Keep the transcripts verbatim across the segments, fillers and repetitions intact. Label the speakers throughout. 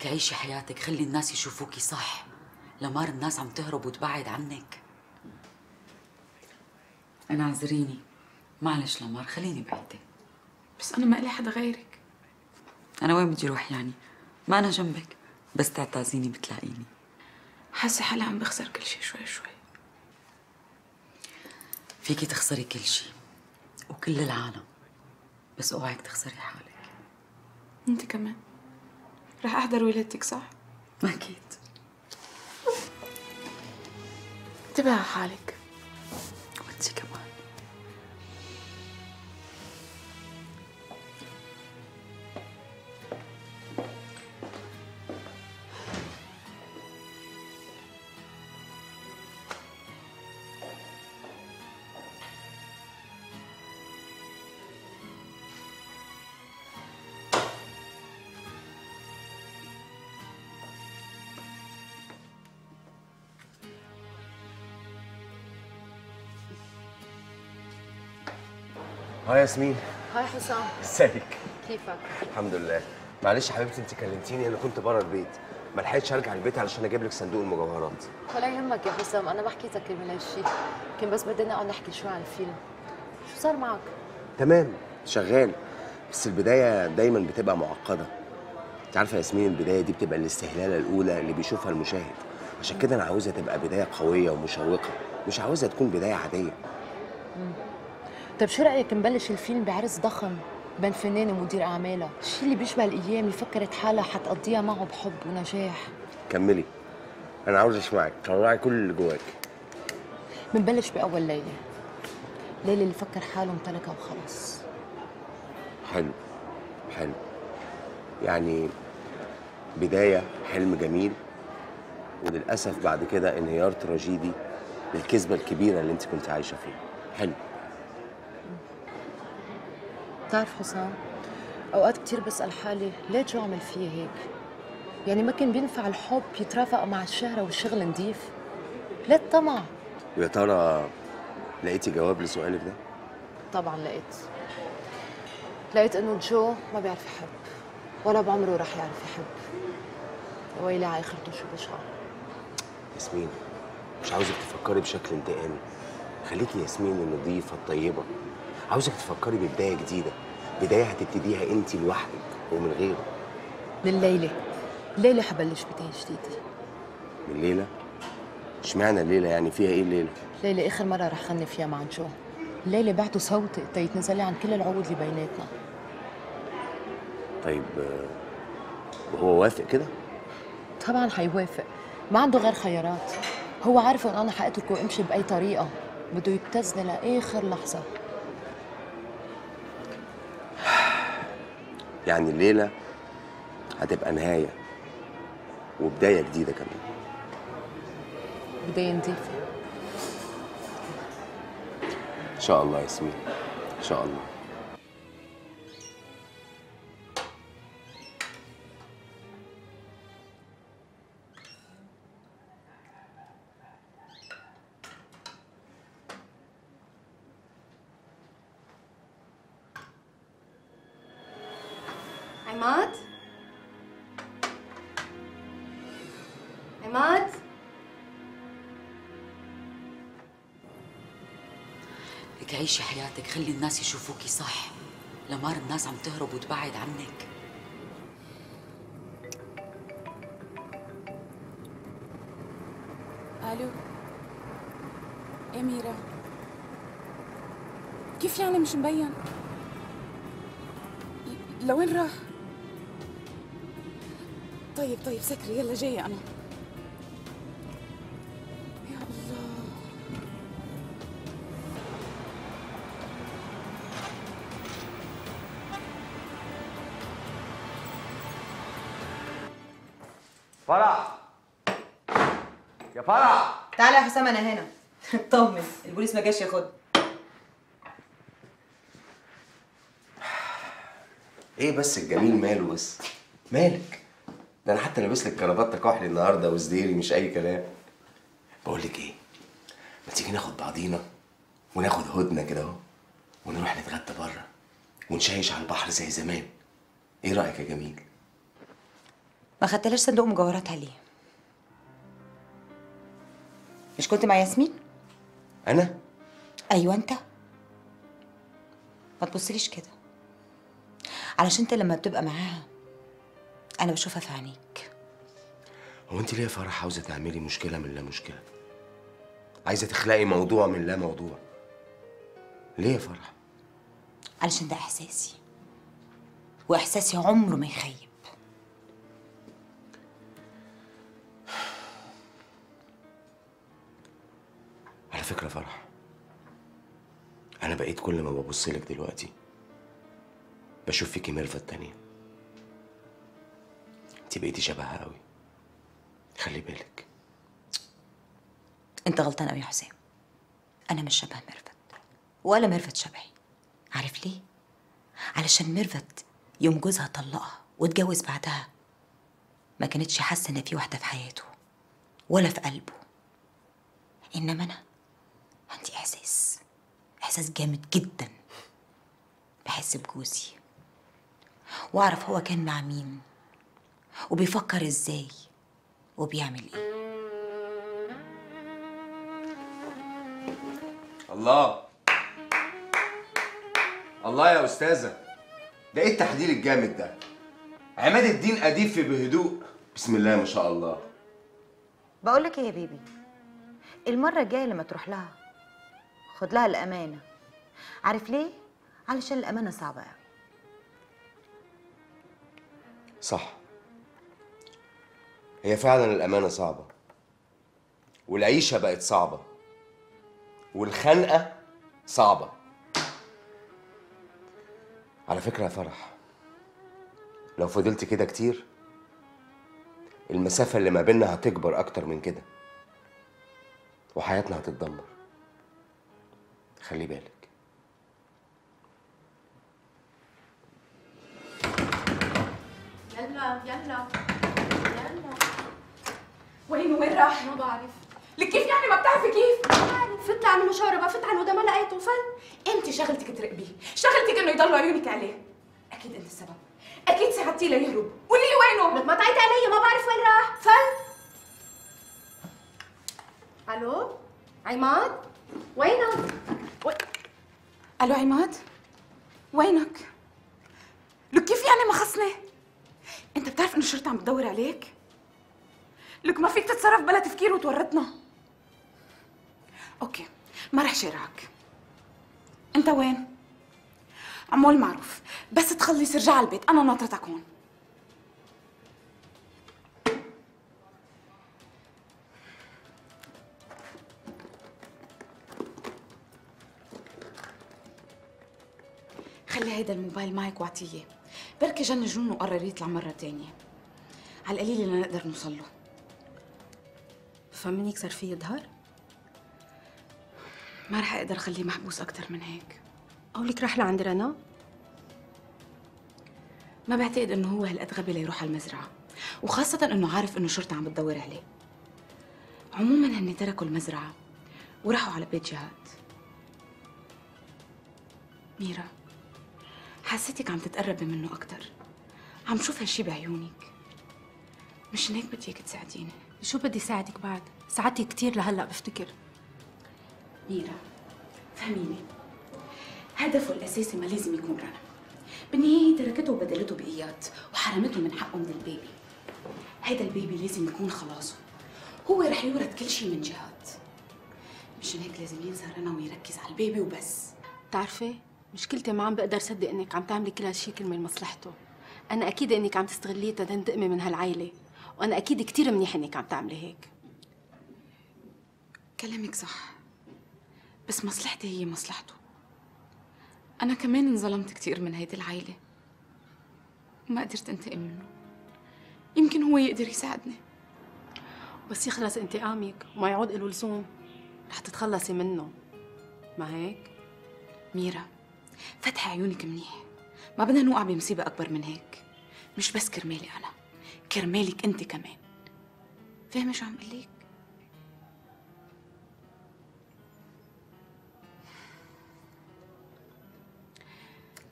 Speaker 1: لك عيشي حياتك، خلي الناس يشوفوكي صح. لمار الناس عم تهرب وتبعد عنك. أنا اعذريني، معلش لمار، خليني بعيدة.
Speaker 2: بس أنا ما إلي حدا غيرك.
Speaker 1: أنا وين بدي روح يعني؟ ما أنا جنبك، بس تعتازيني بتلاقيني.
Speaker 2: حاسة حالي عم بخسر كل شيء شوي شوي.
Speaker 1: فيكي تخسري كل شيء وكل العالم، بس اوعك تخسري حالك.
Speaker 2: انت كمان رح احضر ولادتك صح؟
Speaker 1: اكيد.
Speaker 2: انتبهي على حالك.
Speaker 1: وانت كمان.
Speaker 3: هاي ياسمين.
Speaker 4: هاي حسام.
Speaker 3: ازيك؟
Speaker 4: كيفك؟
Speaker 3: الحمد لله. معلش يا حبيبتي انت كلمتيني، انا كنت بره البيت، ما لحقتش ارجع البيت علشان اجيب لك صندوق المجوهرات.
Speaker 4: ولا يهمك يا حسام، انا ما حكيتك من هالشيء، كان بس بدنا نقعد نحكي شوي عن الفيلم. شو صار معك؟
Speaker 3: تمام، شغال، بس البدايه دايما بتبقى معقده. انت عارفه يا ياسمين، البدايه دي بتبقى الاستهلاله الاولى اللي بيشوفها المشاهد، عشان كده انا عاوزها تبقى بدايه قويه ومشوقه، مش عاوزها تكون بدايه عاديه.
Speaker 4: امم طيب شو رايك نبلش الفيلم بعرس ضخم بين فنان ومدير اعمالها، الشيء اللي بيشبه الايام اللي فكرت حالها حتقضيها معه بحب ونجاح.
Speaker 3: كملي، انا عاوز اسمعك، طلعي كل اللي جواك.
Speaker 4: بنبلش باول ليله، ليله اللي فكر حاله امتلكها وخلص.
Speaker 3: حلو حلو، يعني بدايه حلم جميل، وللاسف بعد كده انهيار تراجيدي للكذبه الكبيره اللي انت كنت عايشه فيها. حلو.
Speaker 4: بتعرف حسام، اوقات كتير بسال حالي ليه جو عمل فيي هيك؟ يعني ما كان بينفع الحب يترافق مع الشهره والشغل نضيف؟ ليه الطمع؟
Speaker 3: ويا ترى لقيتي جواب لسؤالك ده؟
Speaker 4: طبعا لقيت. لقيت انه جو ما بيعرف يحب، ولا بعمره رح يعرف يحب. ويلي على اخرته شو بشعر.
Speaker 3: ياسمين، مش عاوزك تفكري بشكل انتقامي، خليكي ياسمين النظيفه الطيبه. عاوزك تفكري ببدايه جديده، بدايه هتبتديها انت لوحدك ومن غيره.
Speaker 4: من الليله، الليله حبلش بدايه جديده.
Speaker 3: من الليله؟ اشمعنى الليله يعني؟ فيها ايه الليله؟
Speaker 4: ليله اخر مره رح غني فيها مع جو. الليله بعته صوتي تيتنزلي عن كل العقود اللي بيناتنا.
Speaker 3: طيب وهو وافق كده؟
Speaker 4: طبعا حيوافق، ما عنده غير خيارات. هو عارف ان انا حاتركه وامشي باي طريقه، بده يبتزني لاخر لحظه.
Speaker 3: يعني الليله هتبقى نهايه وبدايه جديده كمان.
Speaker 4: بدايه نظيفه
Speaker 3: ان شاء الله يا ياسمين، ان شاء الله.
Speaker 5: عماد؟ عماد؟
Speaker 1: لك عيشي حياتك، خلي الناس يشوفوكي صح. لمار الناس عم تهرب وتبعد عنك.
Speaker 2: الو أميرة، كيف يعني مش مبين؟ لوين راح؟ طيب طيب سكري، يلا جاية أنا. يا الله.
Speaker 6: فرح، يا فرح
Speaker 7: تعالى يا حسام، انا هنا. اطمن، البوليس ما جاش ياخدني.
Speaker 3: ايه بس الجميل ماله بس؟ مالك؟ ده انا حتى لابس لك كرافته كحلي النهارده وزديري، مش اي كلام. بقول لك ايه، ما تيجي ناخد بعضينا وناخد هدنه كده اهو، ونروح نتغدى بره ونشيش على البحر زي زمان. ايه رايك يا جميل؟
Speaker 7: ما خدتلاش صندوق مجوهراتها ليه؟ مش كنت مع ياسمين؟
Speaker 3: انا؟
Speaker 7: ايوه انت. ما تبصليش كده، علشان انت لما بتبقى معاها انا بشوفها في عينيك.
Speaker 3: هو انت ليه يا فرح عاوزه تعملي مشكله من لا مشكله؟ عايزه تخلقي موضوع من لا موضوع. ليه يا فرح؟
Speaker 7: علشان ده احساسي، واحساسي عمره ما يخيب.
Speaker 3: على فكره فرح، انا بقيت كل ما ببص لك دلوقتي بشوف فيكي ميرفت التانية. انت بقيتي شبهها قوي، خلي بالك.
Speaker 7: انت غلطان قوي يا حسام، انا مش شبه ميرفت ولا ميرفت شبهي. عارف ليه؟ علشان ميرفت يوم جوزها طلقها واتجوز بعدها ما كانتش حاسه ان في واحده في حياته ولا في قلبه. انما انا عندي احساس احساس جامد جدا. بحس بجوزي واعرف هو كان مع مين وبيفكر ازاي وبيعمل ايه.
Speaker 3: الله الله يا استاذه، ده ايه التحضير الجامد ده؟ عماد الدين اديب في بهدوء، بسم الله ما شاء الله.
Speaker 5: بقول لك ايه يا بيبي، المره الجايه لما تروح لها خد لها الامانه. عارف ليه؟ علشان الامانه صعبه قوي.
Speaker 3: صح، هي فعلا الامانه صعبه، والعيشه بقت صعبه، والخنقه صعبه. على فكره يا فرح، لو فضلت كده كتير المسافه اللي ما بيننا هتكبر اكتر من كده، وحياتنا هتتدمر. خلي بالك.
Speaker 2: يلا يلا يلا. وين وين راح؟ ما بعرف. لك كيف يعني ما بتعرفي كيف؟ ما بعرف. فت لعنده مشاربة، فت عنده ما لقيته فل. انت شغلتك تراقبيه، شغلتك انه يضلوا عيونك عليه. اكيد انت السبب، اكيد ساعدتيه ليهرب. قولي لي وينه؟ لك ما تعيطي علي، ما بعرف وين راح. فل.
Speaker 8: الو عماد، وينك؟ وين؟
Speaker 2: الو عماد، وينك؟ لك كيف يعني ما خصني؟ انت بتعرف انه الشرطة عم بتدور عليك؟ لك ما فيك تتصرف بلا تفكير وتورطنا. اوكي، ما رح شارعك. انت وين؟ عمول معروف، بس تخلص ارجع على البيت، انا ناطرتك هون. خلي هيدا الموبايل معك واعطيه، بركي جن جنون وقرر يطلع مرة تانية. على القليل لنقدر نوصل له.
Speaker 8: فمن يكسر فيه ظهر؟
Speaker 2: ما رح اقدر اخليه محبوس اكثر من هيك.
Speaker 8: قولك راح لعند رنا؟
Speaker 2: ما بعتقد انه هو هالقد غبي ليروح على المزرعة، وخاصة انه عارف انه الشرطة عم بتدور عليه. عموما هن تركوا المزرعة وراحوا على بيت جهاد. ميرا، حسيتك عم تتقربي منه اكثر، عم شوف هالشي بعيونك. مشان هيك بدي اياك تساعديني.
Speaker 8: شو بدي ساعدك بعد؟ ساعدتي كثير لهلا بفتكر.
Speaker 2: ميرا فهميني، هدفه الاساسي ما لازم يكون رنا. بالنهاية تركته وبدلته بإياد وحرمته من حقه من البيبي. هيدا البيبي لازم يكون خلاصه، هو رح يورث كل شيء من جهاد. مشان هيك لازم ينسى رنا ويركز على البيبي وبس.
Speaker 8: بتعرفي مشكلتي ما عم بقدر صدق انك عم تعملي كل هالشيء كرمال مصلحته. انا اكيد انك عم تستغليه تنتقمي من هالعائله، وانا اكيد كثير منيح انك عم تعملي هيك.
Speaker 2: كلامك صح، بس مصلحتي هي مصلحته. أنا كمان انظلمت كثير من هيدي العائلة، ما قدرت انتقم منه. يمكن هو يقدر يساعدني.
Speaker 8: بس يخلص انتقامك وما يعود له لزوم رح تتخلصي منه، ما هيك؟
Speaker 2: ميرا، فتحي عيونك منيح، ما بدنا نوقع بمصيبة أكبر من هيك. مش بس كرمالي أنا، كرمالك أنت كمان. فاهمة شو عم قلك؟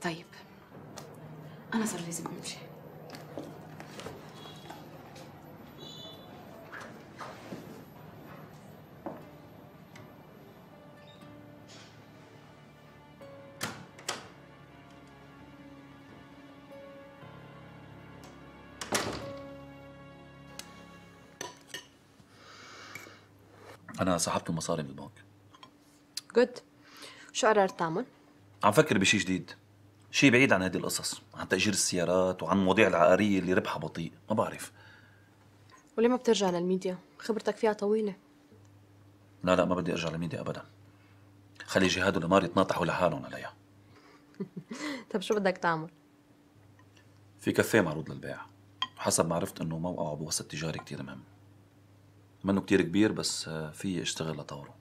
Speaker 2: طيب، أنا صار لازم أمشي.
Speaker 9: أنا سحبت المصاري من البنك.
Speaker 4: جود. شو قررت تعمل؟
Speaker 9: عم فكر بشي جديد، شي بعيد عن هذه القصص، عن تأجير السيارات وعن المواضيع العقارية اللي ربحها بطيء، ما بعرف.
Speaker 4: وليه ما بترجع للميديا؟ خبرتك فيها طويلة.
Speaker 9: لا لا ما بدي أرجع للميديا أبدا. خلي جهاد ولمار يتناطحوا لحالهم عليها.
Speaker 4: طب شو بدك تعمل؟
Speaker 9: في كافيه معروض للبيع، حسب ما عرفت إنه موقعه بوسط تجاري كتير مهم. منه كتير كبير بس في اشتغل لطوره.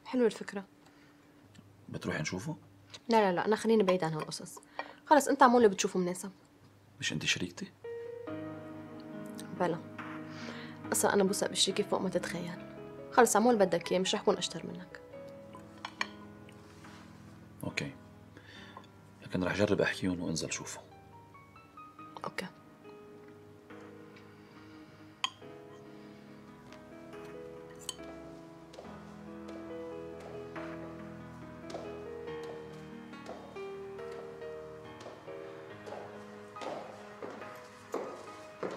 Speaker 4: حلوة الفكرة.
Speaker 9: بتروحي نشوفه؟
Speaker 4: لا لا لا، أنا خليني بعيد عن هالقصص. خلص أنت اعمل اللي بتشوفه مناسب.
Speaker 9: مش أنت شريكتي؟
Speaker 4: بلا. أصلا أنا بوثق بشريكي فوق ما تتخيل. خلص اعمل اللي بدك إياه، مش رح كون أشطر منك.
Speaker 9: أوكي. لكن رح جرب أحكيهم وأنزل شوفه.
Speaker 4: أوكي.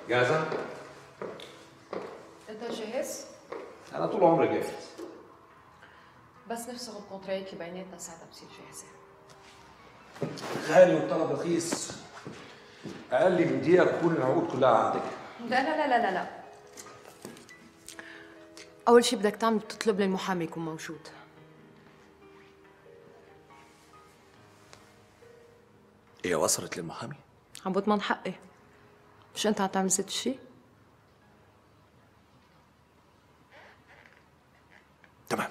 Speaker 10: جاهزة؟
Speaker 4: أنت جاهز؟
Speaker 10: أنا طول عمري جاهز.
Speaker 4: بس نفسه الكونترايت اللي بيناتنا ساعتها بصير جاهزة.
Speaker 10: غالي والطلب رخيص. أقل من دقيقة تكون العقود كلها عندك.
Speaker 4: لا لا لا لا لا لا. أول شي بدك تعمل تطلب لي المحامي يكون موجود.
Speaker 10: هي وصلت للمحامي؟
Speaker 4: عم بضمن حقي. مش أنت عم تعمل ست الشي؟
Speaker 10: تمام.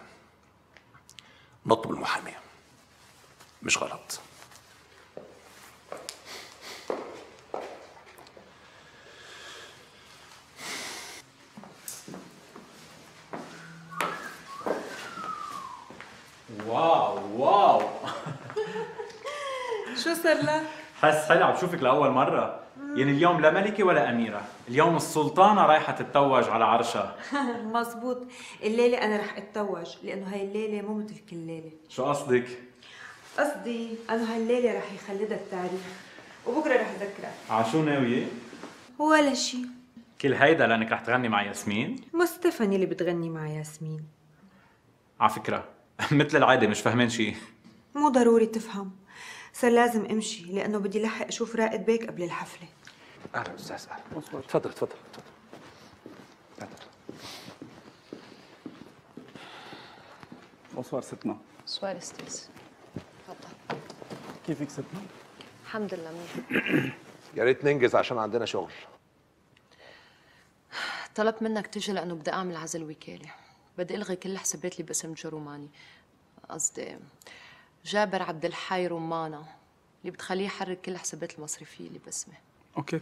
Speaker 10: نطلب المحامي. مش غلط.
Speaker 11: واو واو.
Speaker 12: شو صار لك؟
Speaker 11: حس حالي عم بشوفك لأول مرة. يعني اليوم لا ملكة ولا أميرة، اليوم السلطانة رايحة تتوج على عرشها.
Speaker 12: مزبوط، الليلة أنا رح أتوج لأنه هاي الليلة مو مثل كل ليلة.
Speaker 11: شو قصدك؟
Speaker 12: قصدي أنه هالليلة رح يخلدها التاريخ وبكرة رح أذكرها.
Speaker 11: عشو ناوية؟
Speaker 12: ولا شيء.
Speaker 11: كل هيدا لأنك رح تغني مع ياسمين؟
Speaker 12: مو ستيفاني اللي بتغني مع ياسمين.
Speaker 11: على فكرة مثل العادة مش فاهمين شيء.
Speaker 12: مو ضروري تفهم، صار لازم امشي لأنه بدي لحق أشوف رائد بيك قبل الحفلة.
Speaker 10: أهلا أستاذ. أهلا. تفضل تفضل تفضل.
Speaker 13: بونسوار ستنا.
Speaker 4: سؤال استاذ. تفضل.
Speaker 13: كيفك ستنا؟
Speaker 4: الحمد لله منيح.
Speaker 10: يا ريت ننجز عشان عندنا شغل.
Speaker 4: طلبت منك تجي لأنه بدي أعمل عزل وكالة. بدي ألغي كل حسابات اللي باسم جروماني. قصدي جابر عبد الحي رمانة اللي بتخليه يحرك كل الحسابات المصرفية اللي باسمه.
Speaker 13: اوكي.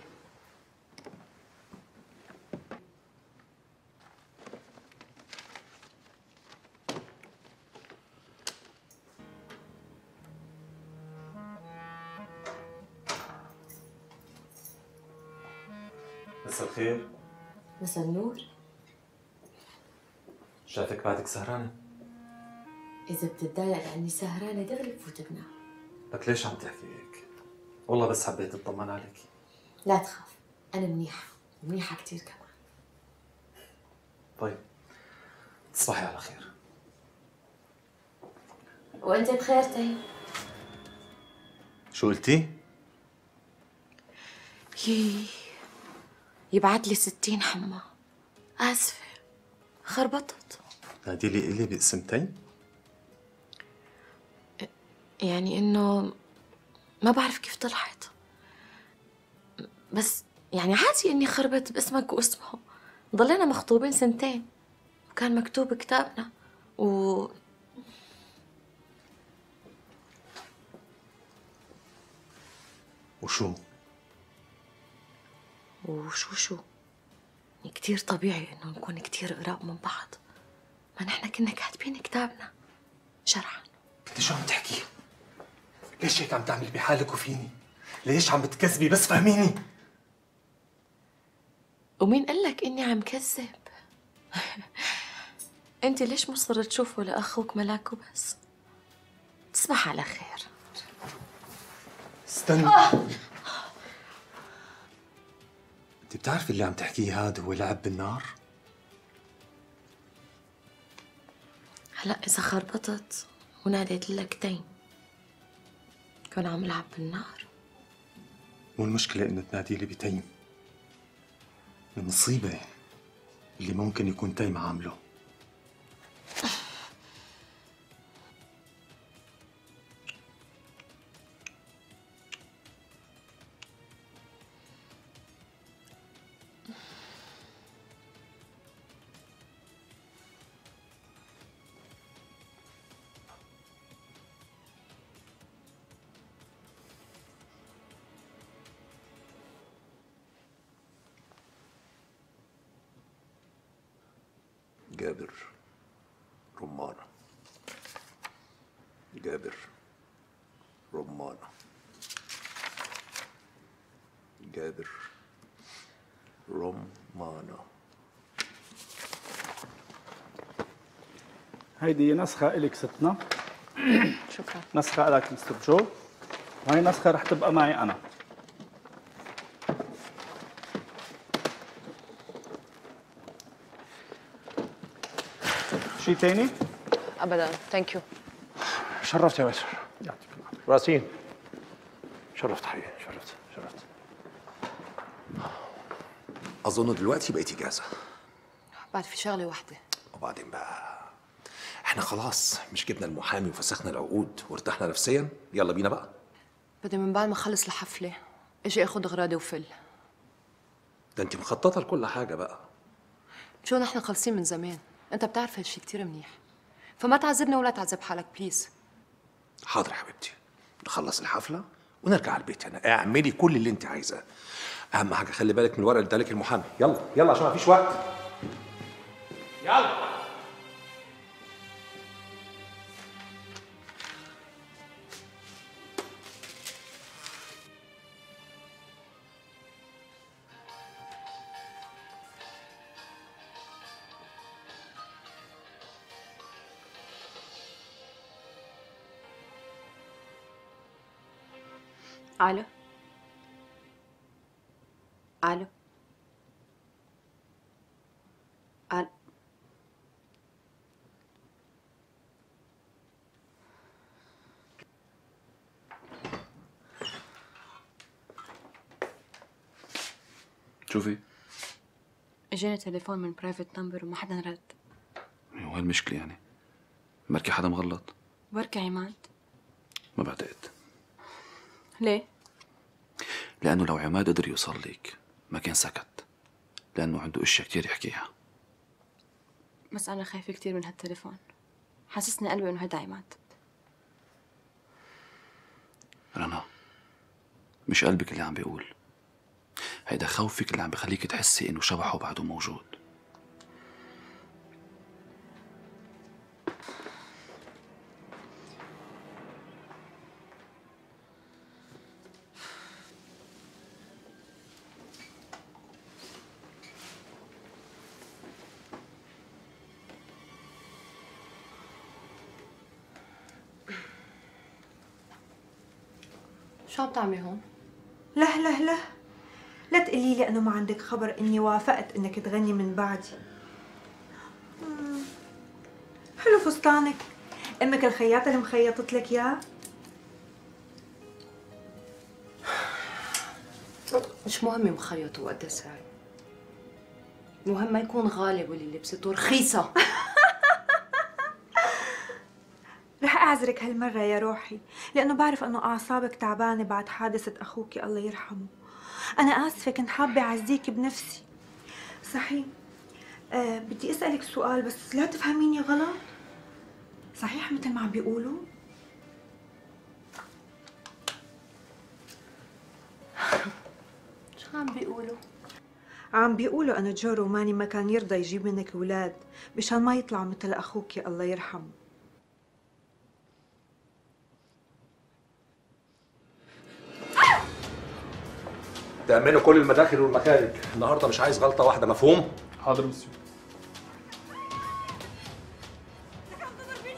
Speaker 14: مساء الخير.
Speaker 7: مساء النور.
Speaker 14: شايفك بعدك سهرانة.
Speaker 7: إذا بتتضايق لأني سهرانة دغري بفوت بنام.
Speaker 14: لك ليش عم تحكي هيك؟ والله بس حبيت اطمن عليك.
Speaker 7: لا تخاف، أنا منيحة، منيحة كتير كمان.
Speaker 14: طيب تصبحي على خير.
Speaker 7: وأنت بخير طيب؟
Speaker 14: شو قلتي؟
Speaker 7: يي يبعت لي ستين حمى. آسفة خربطت.
Speaker 14: نادي لي إلي باسمتين؟
Speaker 7: يعني إنه ما بعرف كيف طلعت، بس يعني عادي إني خربت باسمك واسمه. ضلينا مخطوبين سنتين وكان مكتوب كتابنا و
Speaker 14: وشو؟
Speaker 7: وشو شو؟ يعني كتير طبيعي إنه نكون كتير قراب من بعض، ما نحن كنا كاتبين كتابنا شرعا.
Speaker 14: انت شو عم تحكي؟ ليش هيك عم تعملي بحالك وفيني؟ ليش عم بتكذبي؟ بس فهميني.
Speaker 7: ومين قال لك إني عم كذب؟ أنت ليش مصر تشوفه لأخوك ملاك وبس؟ تصبح على خير.
Speaker 14: استني. آه. انت بتعرفي اللي عم تحكيه هذا هو لعب بالنار؟
Speaker 4: هلا إذا خربطت وناديت لك تيم كان عم لعب بالنار.
Speaker 14: مو المشكلة إنه تنادي لي بتيم، المصيبة اللي ممكن يكون تيم عامله.
Speaker 10: جابر رمانة، جابر رمانة، جابر رمانة.
Speaker 13: هيدي نسخة إلك ستنا.
Speaker 4: شكرا.
Speaker 13: نسخة إلك مستر جو، وهي نسخة رح تبقى معي أنا. شيء تاني؟
Speaker 4: أبدا، ثانك يو.
Speaker 10: شرفت يا باسل. يعطيك العافية. راسين. شرفت حقيقي، شرفت شرفت. أظن دلوقتي بقيتي جاهزة.
Speaker 4: بعد في شغلة واحدة.
Speaker 10: وبعدين بقى احنا خلاص مش جبنا المحامي وفسخنا العقود وارتحنا نفسيا، يلا بينا بقى.
Speaker 4: بدي من بعد ما اخلص الحفلة اجي اخد اغراضي وفل.
Speaker 10: ده انت مخططة لكل حاجة بقى.
Speaker 4: شو نحن خالصين من زمان، انت بتعرف هالشي كتير منيح، فما تعذبنا ولا تعذب حالك بليز.
Speaker 10: حاضر يا حبيبتي، نخلص الحفلة ونرجع على البيت. انا اعملي كل اللي انت عايزاه، اهم حاجة خلي بالك من الورق اللي ادالك المحامي. يلا يلا عشان ما فيش وقت. يلا.
Speaker 15: الو الو الو
Speaker 9: شوفي،
Speaker 15: اجاني تليفون من برايفت نمبر وما حدا رد.
Speaker 9: وين المشكلة يعني؟ بركي حدا مغلط؟
Speaker 15: بركي عماد.
Speaker 9: ما بعتقد.
Speaker 15: ليه؟
Speaker 9: لأنه لو عماد قدر يوصل لك ما كان سكت، لأنه عنده أشياء كتير يحكيها.
Speaker 15: بس أنا خايفة كتير من هالتليفون، حاسسني قلبي إنه هيدا عماد.
Speaker 9: رنا، مش قلبك اللي عم بيقول، هيدا خوفك اللي عم بخليك تحسي إنه شبحه بعده موجود.
Speaker 4: شو عم تعملي هون؟
Speaker 12: لا لا لا لا تقولي لي انه ما عندك خبر اني وافقت انك تغني من بعدي. مم. حلو فستانك، امك الخياطه اللي مخيطت لك اياه.
Speaker 4: مش مهم مخيط وقد سعر، المهم ما يكون غالي واللي لبسته رخيصه.
Speaker 12: رح أعذرك هالمرة يا روحي، لأنه بعرف أنه أعصابك تعبانة بعد حادثة أخوك الله يرحمه. أنا آسفة، كنت حابة أعزيك بنفسي. صحيح، أه بدي أسألك سؤال بس لا تفهميني غلط. صحيح مثل ما عم بيقولوا؟
Speaker 4: شو عم بيقولوا؟
Speaker 12: عم بيقولوا أنه جو روماني ما كان يرضى يجيب منك أولاد مشان ما يطلعوا مثل أخوك الله يرحمه.
Speaker 10: تأمنوا كل المداخل والمخارج، النهارده مش عايز غلطة واحدة، مفهوم؟
Speaker 13: حاضر مسيو.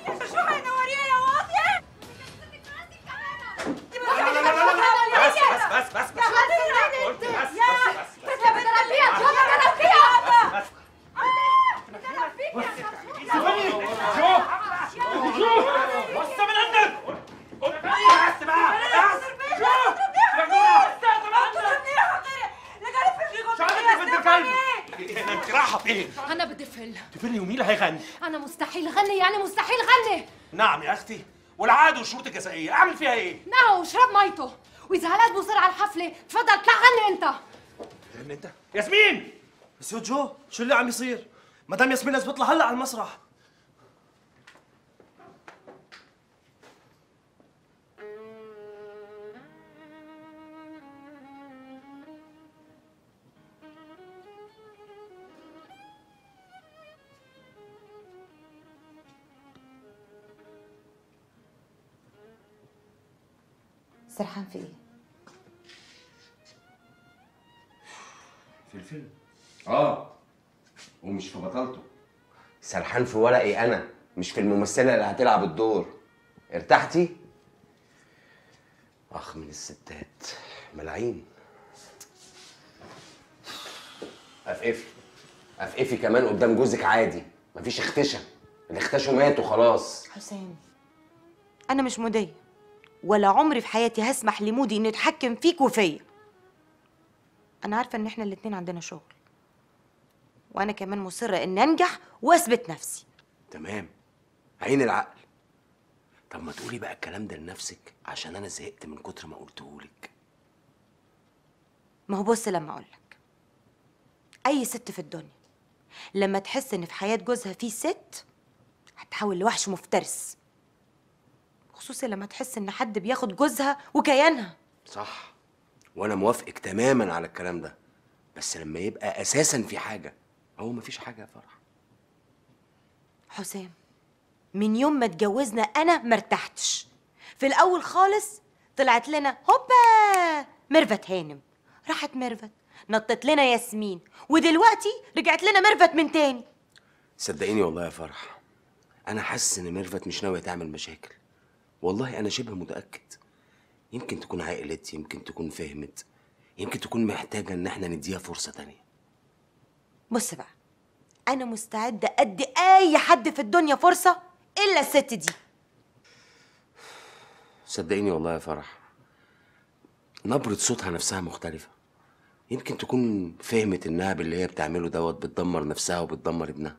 Speaker 16: شو هينوريها يا واطية؟
Speaker 10: لا لا لا لا لا بس بس بس بس قلت بس بس بس
Speaker 16: بدها بتربيها جو بتربيها
Speaker 10: بس بس
Speaker 14: فين؟
Speaker 8: انا بدي فل.
Speaker 14: تفلي ومين اللي هيغني؟
Speaker 8: انا مستحيل غني، يعني مستحيل غني.
Speaker 14: نعم يا اختي، والعادة والشروط الجزائية اعمل فيها ايه؟
Speaker 8: نعم وشرب ميته، واذا هالقد مصر على الحفله تفضل اطلع غني انت.
Speaker 14: غني انت؟ ياسمين!
Speaker 17: مسيو جو، شو اللي عم يصير؟ مدام ياسمين لازم تطلع هلا على المسرح.
Speaker 5: سرحان في ايه؟
Speaker 3: في الفيلم. اه ومش في بطلته. سرحان في ورقي انا، مش في الممثله اللي هتلعب الدور. ارتحتي؟ اخ من الستات ملاعين. افقفي افقفي كمان قدام جوزك عادي، مفيش اختشا، اللي اختشوا ماتوا خلاص.
Speaker 7: حسام، انا مش مودية، ولا عمري في حياتي هسمح لمودي انه يتحكم فيك وفيا. انا عارفه ان احنا الاتنين عندنا شغل، وانا كمان مصره ان انجح واثبت نفسي.
Speaker 3: تمام، عين العقل. طب ما تقولي بقى الكلام ده لنفسك، عشان انا زهقت من كتر ما قلتهولك.
Speaker 7: ما هو بص، لما اقولك اي ست في الدنيا لما تحس ان في حياه جوزها في ست هتحول لوحش مفترس، خصوصا لما تحس ان حد بياخد جوزها وكيانها.
Speaker 3: صح، وانا موافقك تماما على الكلام ده، بس لما يبقى اساسا في حاجه. هو مفيش حاجه يا فرح.
Speaker 7: حسام، من يوم ما اتجوزنا انا مرتحتش. في الاول خالص طلعت لنا هوبا ميرفت هانم، راحت ميرفت نطت لنا ياسمين، ودلوقتي رجعت لنا ميرفت من تاني.
Speaker 3: صدقيني والله يا فرح، انا حاسس ان ميرفت مش ناويه تعمل مشاكل. والله انا شبه متاكد. يمكن تكون عقلت، يمكن تكون فهمت، يمكن تكون محتاجه ان احنا نديها فرصه تانية.
Speaker 7: بص بقى، انا مستعده ادي اي حد في الدنيا فرصه الا الست دي.
Speaker 3: صدقيني والله يا فرح، نبرة صوتها نفسها مختلفة. يمكن تكون فهمت انها باللي هي بتعمله دوت بتدمر نفسها وبتدمر ابنها.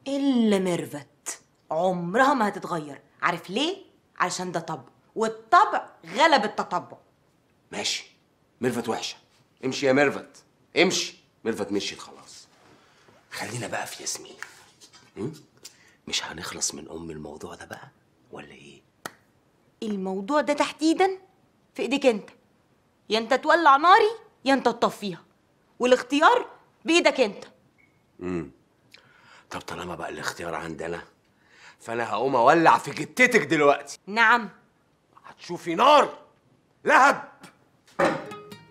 Speaker 7: الا ميرفت عمرها ما هتتغير. عارف ليه؟ علشان ده طبع، والطبع غلب التطبع.
Speaker 3: ماشي، ميرفت وحشة، امشي يا ميرفت امشي. ميرفت مشيت خلاص. خلينا بقى في ياسمين. م? مش هنخلص من ام الموضوع ده بقى ولا ايه؟
Speaker 7: الموضوع ده تحديدا في ايديك انت، يا انت تولع ناري يا انت تطفيها، والاختيار بايدك انت.
Speaker 3: امم طب طالما بقى الاختيار عندنا، فانا هقوم اولع في جتتك دلوقتي.
Speaker 7: نعم،
Speaker 3: هتشوفي نار لهب.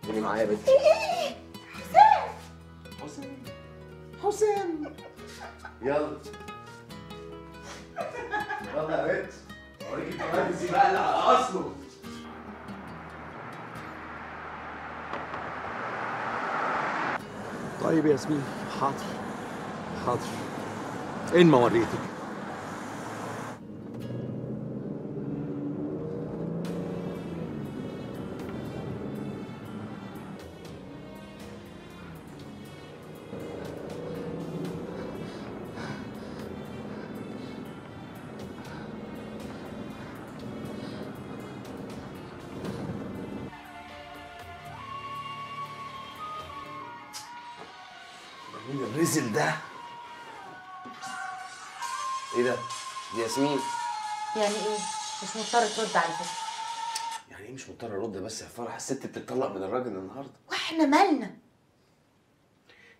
Speaker 3: قولي معايا يا بنتي.
Speaker 16: حسام
Speaker 3: حسام حسام يلا يلا يا بنت، اوريكي الفرنسي بقى اللي على اصله.
Speaker 10: طيب يا ياسمين، حاضر حاضر. اين ما وريتك؟
Speaker 3: مين الرزل ده؟ ايه ده؟ دي ياسمين.
Speaker 7: يعني ايه؟ مش مضطر ترد على فكره.
Speaker 3: يعني ايه مش مضطر ارد؟ بس يا فرح الست بتتطلق من الراجل النهارده.
Speaker 7: واحنا مالنا؟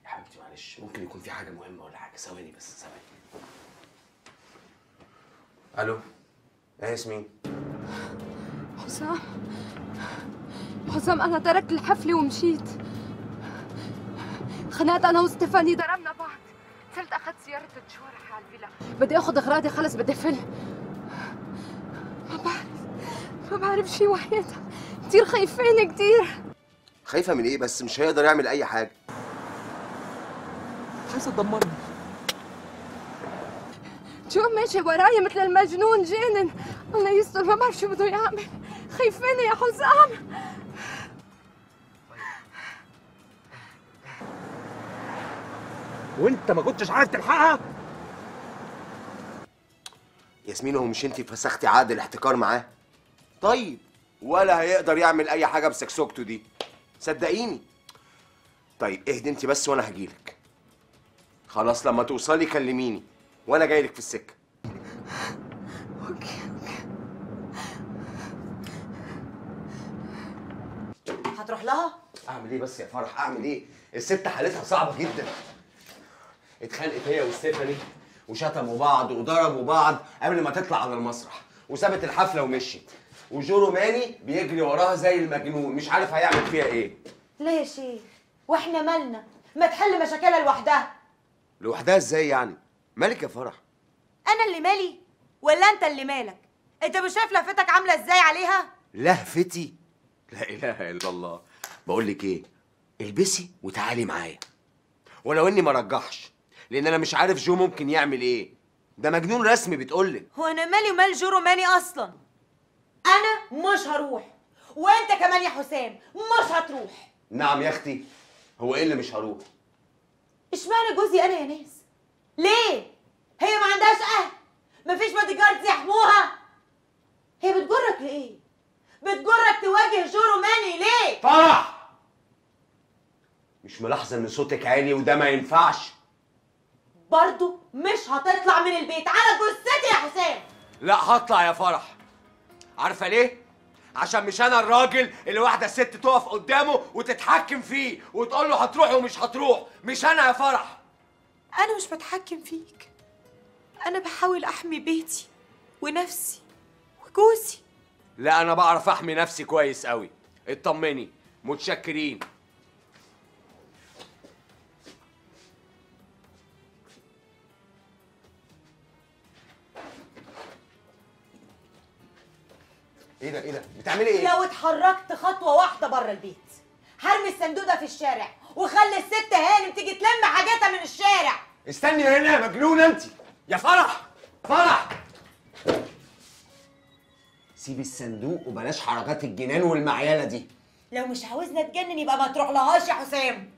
Speaker 3: يا حبيبتي معلش، ممكن يكون في حاجه مهمه ولا حاجه. ثواني بس ثواني. الو، ايه ياسمين؟
Speaker 8: حسام حسام انا تركت الحفله ومشيت. خنقت انا وستيفاني، ضربنا بعض. صرت اخذت سياره تشوارح على الفيلا، بدي اخذ اغراضي خلص بدي فل. ما بعرف ما بعرف شي وحياتها، كثير خايفين كثير.
Speaker 3: خايفه من ايه بس؟ مش هيقدر يعمل اي حاجه.
Speaker 10: عايزه تدمرني.
Speaker 8: شو ماشي وراي مثل المجنون جنن. الله يستر، ما بعرف شو بده يعمل. خايفين يا حسام.
Speaker 10: وانت ما كنتش عارف تلحقها؟
Speaker 3: ياسمين هو مش انت فسختي عقد الاحتكار معاه؟ طيب ولا هيقدر يعمل اي حاجه بسكسوكته دي، صدقيني. طيب اهدي انت بس وانا هجيلك. خلاص لما توصلي كلميني وانا جايلك في السكه.
Speaker 12: اوكي
Speaker 5: هتروح لها؟
Speaker 3: اعمل ايه بس يا فرح، اعمل ايه؟ الست حالتها صعبه جدا. اتخانقت هي وستيفاني وشتموا بعض وضربوا بعض قبل ما تطلع على المسرح، وسابت الحفله ومشيت، وجو روماني بيجري وراها زي المجنون مش عارف هيعمل فيها ايه.
Speaker 5: ليه يا شيخ؟ واحنا مالنا؟ ما تحل مشاكلها لوحدها.
Speaker 3: لوحدها ازاي يعني؟ مالك يا فرح؟
Speaker 5: انا اللي مالي ولا انت اللي مالك؟ انت مش شايف لفتك عامله ازاي عليها؟
Speaker 3: لهفتي؟ لا اله الا الله. بقول لك ايه، البسي وتعالي معايا، ولو اني ما رجحش لان انا مش عارف جو ممكن يعمل ايه. ده مجنون رسمي بتقولك.
Speaker 5: هو انا مالي ومال جو روماني اصلا؟ انا مش هروح، وانت كمان يا حسام مش هتروح.
Speaker 3: نعم يا اختي، هو ايه اللي مش هروح؟
Speaker 5: اشمعنى جوزي انا يا ناس؟ ليه؟ هي ما عندهاش اهل؟ مفيش بادي جاردز يحموها؟ هي بتجرك لايه؟ بتجرك تواجه جو روماني ليه؟
Speaker 3: فرح! مش ملاحظه ان صوتك عالي وده ما ينفعش؟
Speaker 5: برضو مش هتطلع من البيت على جثتي يا حسام.
Speaker 3: لا هطلع يا فرح. عارفه ليه؟ عشان مش انا الراجل اللي واحده ست تقف قدامه وتتحكم فيه وتقول له هتروح ومش هتروح. مش انا يا فرح.
Speaker 12: انا مش بتحكم فيك، انا بحاول احمي بيتي ونفسي وجوزي.
Speaker 3: لا انا بعرف احمي نفسي كويس قوي. اطمني. متشكرين. ايه ده ايه ده؟ بتعملي ايه؟
Speaker 5: لو اتحركت خطوه واحده بره البيت هرمي الصندوق ده في الشارع وخلي الست هانم تيجي تلم حاجاتها من الشارع.
Speaker 3: استني هنا يا مجنونه انت. يا فرح فرح سيبي الصندوق وبلاش حركات الجنان والمعيله دي.
Speaker 5: لو مش عاوزنا نتجنن يبقى ما تروح لهاش يا حسام.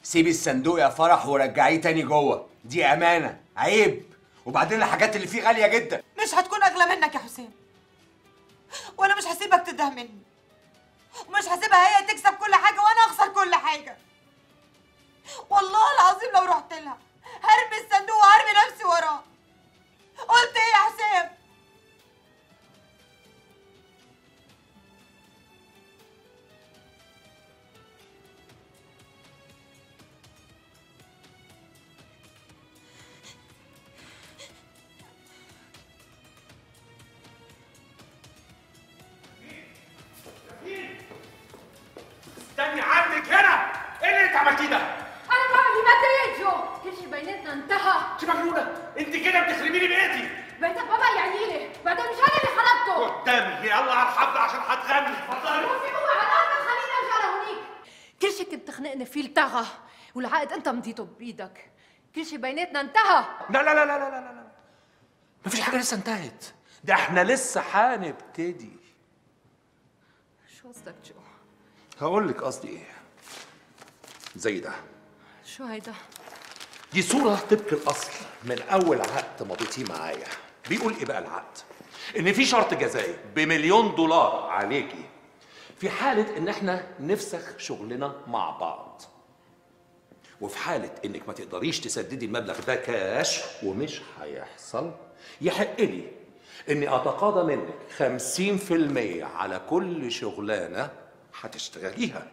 Speaker 3: سيبي الصندوق يا فرح ورجعيه تاني جوه، دي امانه. عيب. وبعدين الحاجات اللي فيه غاليه جدا.
Speaker 12: مش هتكون اغلى منك يا حسام، وانا مش هسيبك تده مني، ومش هسيبها هي تكسب كل حاجه وانا اخسر كل حاجه. والله العظيم لو رحت لها هرمي الصندوق وهرمي نفسي وراه. قلت ايه يا حسام؟
Speaker 10: استني عندك هنا. ايه اللي انت عملتيه ده؟
Speaker 8: انا بعمل اللي بدي اياه جو، كل شيء بيناتنا انتهى.
Speaker 10: انت مجنونه، انت كده بتخربي لي بيتي.
Speaker 8: بيتك بابا يعني لي، بعدين مش انا اللي خربته.
Speaker 10: قدامي يلا على الحفله عشان هتغني. اتفضلي.
Speaker 8: روحي هو على الارض خليني ارجع لهونيك. كل شيء كنت تخنقني فيه التغى، والعقد انت مضيته بايدك. كل شيء بيناتنا انتهى.
Speaker 10: لا لا لا لا لا لا لا مفيش حاجه لسه انتهت، ده احنا لسه هنبتدي.
Speaker 8: شو قصدك جو؟
Speaker 10: هقول لك قصدي ايه. زي ده.
Speaker 8: شو هيدا؟
Speaker 10: دي صورة طبق الأصل من أول عقد مضيتيه معايا. بيقول إيه بقى العقد؟ إن في شرط جزائي بمليون دولار عليكي في حالة إن إحنا نفسخ شغلنا مع بعض. وفي حالة إنك ما تقدريش تسددي المبلغ ده كاش، ومش هيحصل، يحق لي إني أتقاضى منك خمسين في المية على كل شغلانة هتشتغليها.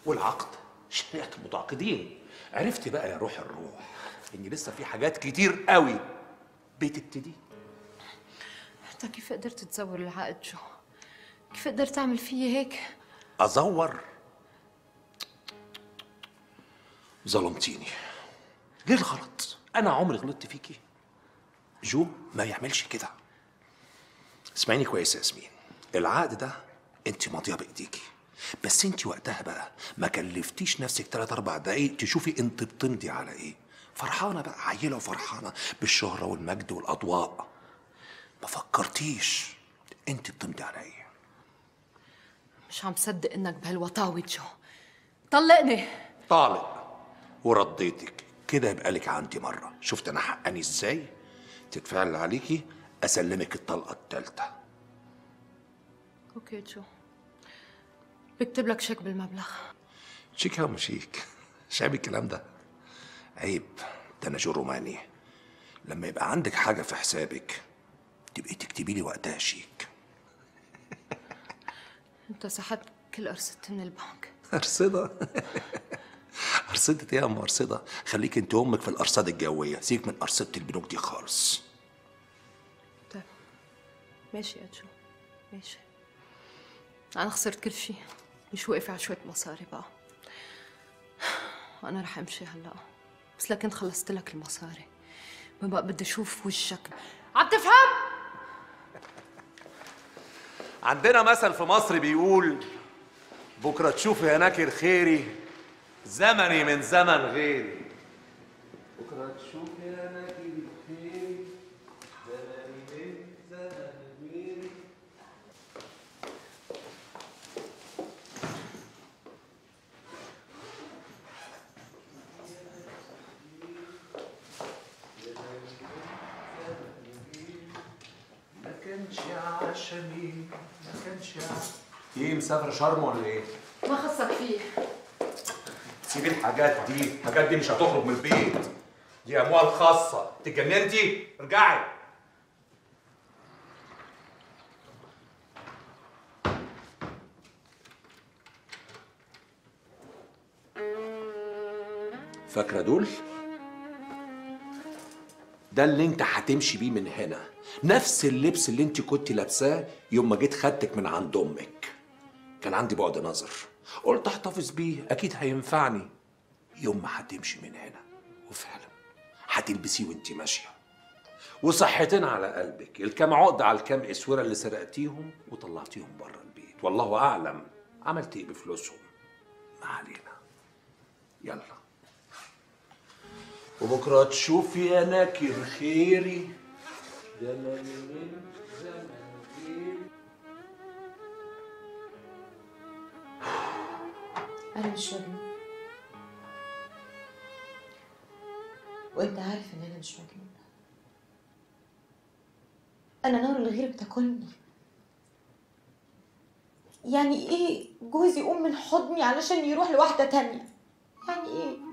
Speaker 10: والعقد شريعة المتعاقدين. عرفت بقى يا روح الروح إن لسه في حاجات كتير قوي بتبتدي.
Speaker 4: انت كيف قدرت تزور العقد جو؟ كيف قدرت تعمل فيي هيك؟
Speaker 10: أزور؟ ظلمتيني. ليه الغلط؟ أنا عمري غلطت فيكي؟ جو ما يعملش كده. اسمعيني كويس يا ياسمين، العقد ده انت ماضيه بايديكي، بس انت وقتها بقى ما كلفتيش نفسك تلات اربع دقايق تشوفي انت بتمضي على ايه. فرحانه بقى، عيله وفرحانه بالشهره والمجد والاضواء. ما فكرتيش انت بتمضي على ايه.
Speaker 4: مش عم صدق انك بهالوطاوة جو. طلقني.
Speaker 10: طالق ورديتك كده يبقى لك عندي مرة. شفت أنا حقاني إزاي؟ تدفع اللي عليكي أسلمك الطلقة التالتة.
Speaker 4: اوكي جو، بكتب لك شيك بالمبلغ.
Speaker 10: شيك أو مش شيك؟ مش عيب الكلام ده. عيب، ده أنا جو روماني. لما يبقى عندك حاجة في حسابك تبقي تكتبي لي وقتها شيك.
Speaker 4: انت سحبت كل ارصدتي من البنك.
Speaker 10: أرصدة؟ أرصدة إيه يا أم أرصدة؟ خليك أنت وأمك في الأرصدة الجوية، سيبك من أرصدة البنوك دي خالص.
Speaker 4: طيب ماشي يا جو، ماشي. أنا خسرت كل شيء، مش واقفة على شوية مصاري بقى. أنا رح أمشي هلا، بس لكن خلصت لك المصاري، ما بقى بدي أشوف وشك. عم تفهم؟
Speaker 10: عندنا مثل في مصر بيقول: بكرة تشوفي يا ناكر خيري، زمني من زمن غيري. بكرة تشوفي يا ناكر خيري، زمني من زمن غيري. ما كانش عشمي، ما كانش عشمي. ايه مسافر شرم ولا ايه؟
Speaker 4: ما خصك فيه.
Speaker 10: سيبي الحاجات دي، الحاجات دي مش هتخرج من البيت. دي اموال خاصة، اتجننتي؟ ارجعي. فاكرة دول؟ ده اللي انت هتمشي بيه من هنا، نفس اللبس اللي انت كنت لابساه يوم ما جيت خدتك من عند امك. كان عندي بعد نظر، قلت احتفظ بيه اكيد هينفعني يوم ما هتمشي من هنا. وفعلا هتلبسيه وانت ماشيه، وصحتين على قلبك، الكام عقده على الكام اسوره اللي سرقتيهم وطلعتيهم بره البيت، والله اعلم عملت ايه بفلوسهم. ما علينا، يلا. وبكره تشوفي يا ناكر خيري، زمن من زمن غيري.
Speaker 7: أنا مش مجنونة، وأنت عارف إن أنا مش مجنونة. أنا نار الغير بتاكلني. يعني إيه جوزي يقوم من حضني علشان يروح لواحدة تانية؟ يعني إيه؟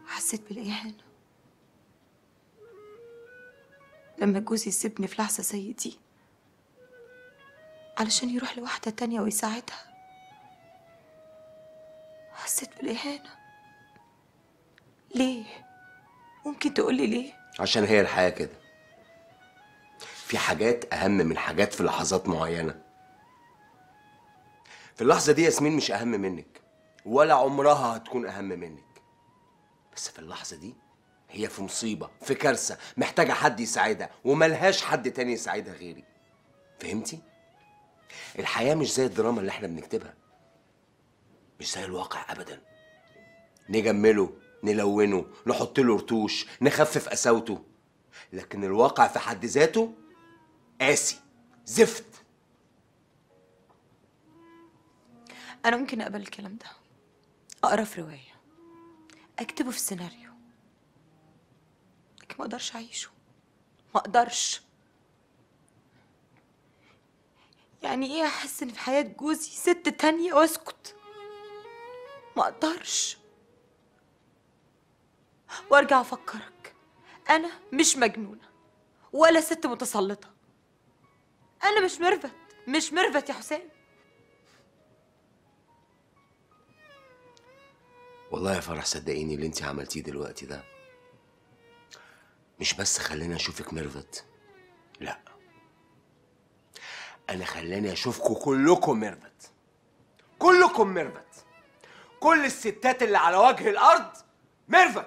Speaker 7: حسيت بالإهانة لما جوزي يسيبني في لحظة زي دي علشان يروح لواحدة تانية ويساعدها. حسيت بالإهانة. ليه؟ ممكن تقولي ليه؟
Speaker 3: عشان هي الحياة كده، في حاجات أهم من حاجات في لحظات معينة. في اللحظة دي ياسمين مش أهم منك، ولا عمرها هتكون أهم منك، بس في اللحظة دي هي في مصيبة، في كارثة، محتاجة حد يساعدها، وملهاش حد تاني يساعدها غيري. فهمتي؟ الحياة مش زي الدراما اللي احنا بنكتبها، مش زي الواقع أبدا. نجمله، نلونه، نحط له رتوش، نخفف قساوته، لكن الواقع في حد ذاته قاسي، زفت.
Speaker 7: أنا ممكن أقبل الكلام ده، أقرأ في رواية، أكتبه في سيناريو، لكن ما أقدرش أعيشه. ما أقدرش. يعني إيه أحس إن في حياة جوزي ست تانية وأسكت؟ ما أقدرش. وأرجع أفكرك، أنا مش مجنونة ولا ست متسلطة. أنا مش ميرفت، مش ميرفت يا حسام.
Speaker 3: والله يا فرح صدقيني اللي انت عملتيه دلوقتي ده مش بس خلاني اشوفك ميرفت، لا، انا خلاني اشوفكم كلكم ميرفت، كلكم ميرفت، كل الستات اللي على وجه الارض ميرفت.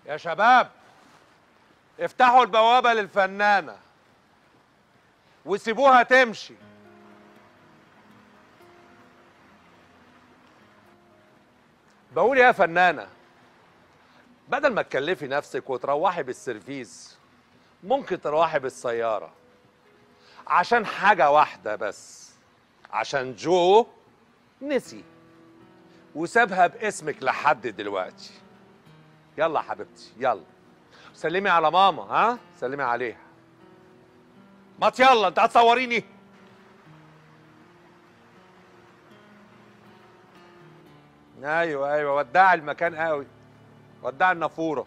Speaker 10: يا شباب افتحوا البوابة للفنانة وسيبوها تمشي. بقول يا فنانة، بدل ما تكلفي نفسك وتروحي بالسيرفيس ممكن تروحي بالسيارة، عشان حاجة واحدة بس، عشان جو نسي وسابها باسمك لحد دلوقتي. يلا حبيبتي يلا سلمي على ماما، ها سلمي عليها. ما يلا انت هتصوريني؟ ايوه ايوه ودعي المكان قوي، ودعي النافوره.